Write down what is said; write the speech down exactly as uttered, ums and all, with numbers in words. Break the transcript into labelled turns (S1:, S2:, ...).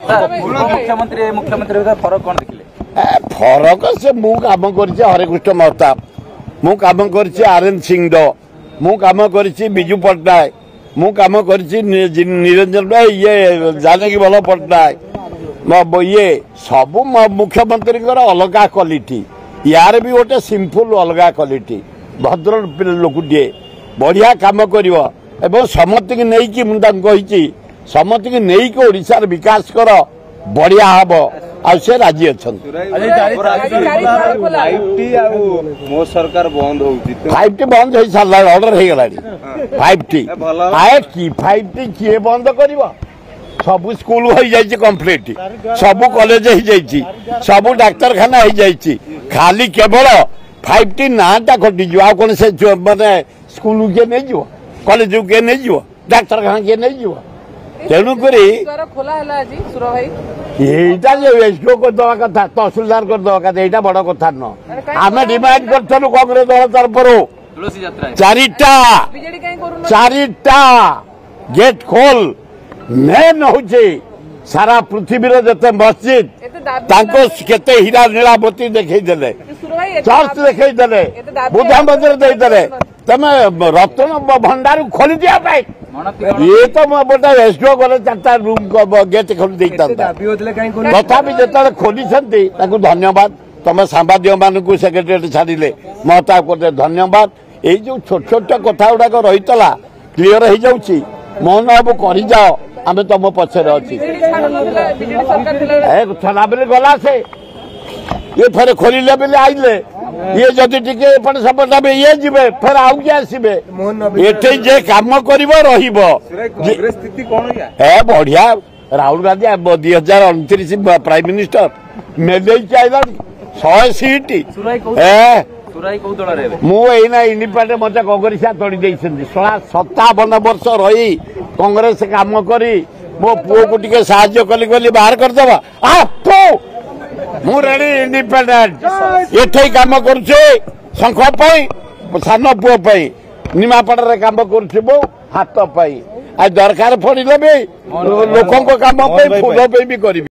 S1: ମୁଖ୍ୟମନ୍ତ୍ରୀ ମୁଖ୍ୟମନ୍ତ୍ରୀ ଭିତରେ ଫରକ କଣ ଦେଖିଲେ?
S2: ଫରକ ସେ ମୁଁ କାମ କରିଛି ହରେକୃଷ୍ଣ ମହତାବ, ମୁଁ କାମ କରିଛି ଆର୍ ଏନ୍ ସିଂହ, ମୁଁ କାମ କରିଛି ବିଜୁ ପଟ୍ଟନାୟକ, ମୁଁ କାମ କରିଛି ନିରଞ୍ଜନ ଇଏ ଜାନକୀ ବଲ୍ଲଭ ପଟ୍ଟନାୟକ, ଇଏ ସବୁ ମୁଖ୍ୟମନ୍ତ୍ରୀଙ୍କର ଅଲଗା କ୍ୱାଲିଟି। ୟାର ବି ଗୋଟେ ସିମ୍ପଲ ଅଲଗା କ୍ୱାଲିଟି। ଭଦ୍ର ଲୋକଟିଏ, ବଢ଼ିଆ କାମ କରିବ ଏବଂ ସମସ୍ତଙ୍କୁ ନେଇକି, ମୁଁ ତାଙ୍କୁ କହିଛି ସମସ୍ତଙ୍କୁ ନେଇକି ଓଡ଼ିଶାର ବିକାଶ କର, ବଢ଼ିଆ ହବ। ଆଉ ସେ ରାଜି ଅଛନ୍ତି। ଫାଇଭ ଟି ବନ୍ଦ ହେଇ ସାରିଲାଣି, ଅର୍ଡର ହେଇଗଲାଣି। ଫାଇଭ ଟି ଆଏ କି ଫାଇଭ ଟି କିଏ ବନ୍ଦ କରିବ? ସବୁ ସ୍କୁଲ ହେଇଯାଇଛି କମ୍ପ୍ଲିଟ, ସବୁ କଲେଜ ହେଇଯାଇଛି, ସବୁ ଡାକ୍ତରଖାନା ହେଇଯାଇଛି, ଖାଲି କେବଳ ଫାଇଭ ଟି ନାଁଟା କଟିଯିବ। ଆଉ କଣ ସେ ମାନେ ସ୍କୁଲକୁ କିଏ ନେଇଯିବ, କଲେଜକୁ କିଏ ନେଇଯିବ, ଡାକ୍ତରଖାନା କିଏ ନେଇଯିବ? ତେଣୁକରି ଏଇଟା ଯେ ଏସଡିଓ କରିଦେବା କଥା, ତହସିଲଦାର କରିଦେବା କଥା, ଏଇଟା ବଡ କଥା ନୁହଁ। ଆମେ ଡିମାଣ୍ଡ କରିଥିଲୁ କଂଗ୍ରେସ ଦଳ ତରଫରୁ ଚାରିଟା ଚାରିଟା ଗେଟ୍ ଖୋଲ। ମେନ୍ ହଉଛି ସାରା ପୃଥିବୀର ଯେତେ ମସଜିଦ୍ ତାଙ୍କ କେତେ ହୀରା ନୀଳାବତୀ ଦେଖେଇଦେଲେ, ଚର୍ଚ୍ଚ ଦେଖେଇଦେଲେ, ବୁଦ୍ଧ ମନ୍ଦିର ଦେଇଦେଲେ, ତମେ ରତ୍ନ ଭଣ୍ଡାର ଖୋଲିଦିଆ ପାଇଁ ଇଏ ତ ଗୋଟେ ଏସଡିଓ ଗଲେ ଚାରିଟା ରୁମ୍ ଗେଟ୍ ଖୋଲି ଦେଇଥାନ୍ତା। ତଥାପି ଯେତେବେଳେ ଖୋଲିଛନ୍ତି ତାକୁ ଧନ୍ୟବାଦ। ତମେ ସାମ୍ବାଦିକମାନଙ୍କୁ ସେକ୍ରେଟେରିଏଟ ଛାଡ଼ିଲେ ମହତାବ ଗୋଟେ ଧନ୍ୟବାଦ। ଏଇ ଯୋଉ ଛୋଟ ଛୋଟ କଥା ଗୁଡାକ ରହିଥିଲା କ୍ଲିୟର ହେଇଯାଉଛି। ମୋହନ ବାବୁ କରିଯାଅ, ଆମେ ତମ ପଛରେ ଅଛି। ଛଡ଼ା ବୋଲି ଗଲା ସେ, ଇଏ ଫେରେ ଖୋଲିଲେ ବୋଲି ଆଇଲେ। ଇଏ ଯଦି ଟିକେ ଏପଟ ସେପଟ ହେବେ ଇଏ ଯିବେ, ଫେର ଆଉ କିଏ ଆସିବେ। ଏଠି ଯେ କାମ କରିବ ରହିବ। ଏ ବଢିଆ। ରାହୁଲ ଗାନ୍ଧୀ ଦୁଇ ହଜାର ଅଣତିରିଶ ପ୍ରାଇମ ମିନିଷ୍ଟର ମେଲେଇକି ଆଇଲାଣି ଶହେ ସିଟ୍। ମୁଁ ଏଇନା ଇଣ୍ଡିପେଣ୍ଡେଣ୍ଟ, ମତେ କଂଗ୍ରେସିଆ ତଡ଼ି ଦେଇଛନ୍ତି। ଶଳା ସତାବନ ବର୍ଷ ରହି କଂଗ୍ରେସ କାମ କରି ମୋ ପୁଅକୁ ଟିକେ ସାହାଯ୍ୟ କଲି କଲି ବାହାର କରିଦେବା। ମୁଁ ରେଡି ଇଣ୍ଡିପେଣ୍ଡେଣ୍ଟ। ଏଠି କାମ କରୁଛି ଶଙ୍ଖ ପାଇଁ, ସାନ ପୁଅ ପାଇଁ, ନିମାପଡ଼ାରେ କାମ କରୁଛି ମୁଁ ହାତ ପାଇଁ, ଆଉ ଦରକାର ପଡ଼ିଲେ ବି ଲୋକଙ୍କ କାମ ପାଇଁ ଫୁଲ ପାଇଁ ବି କରିବି।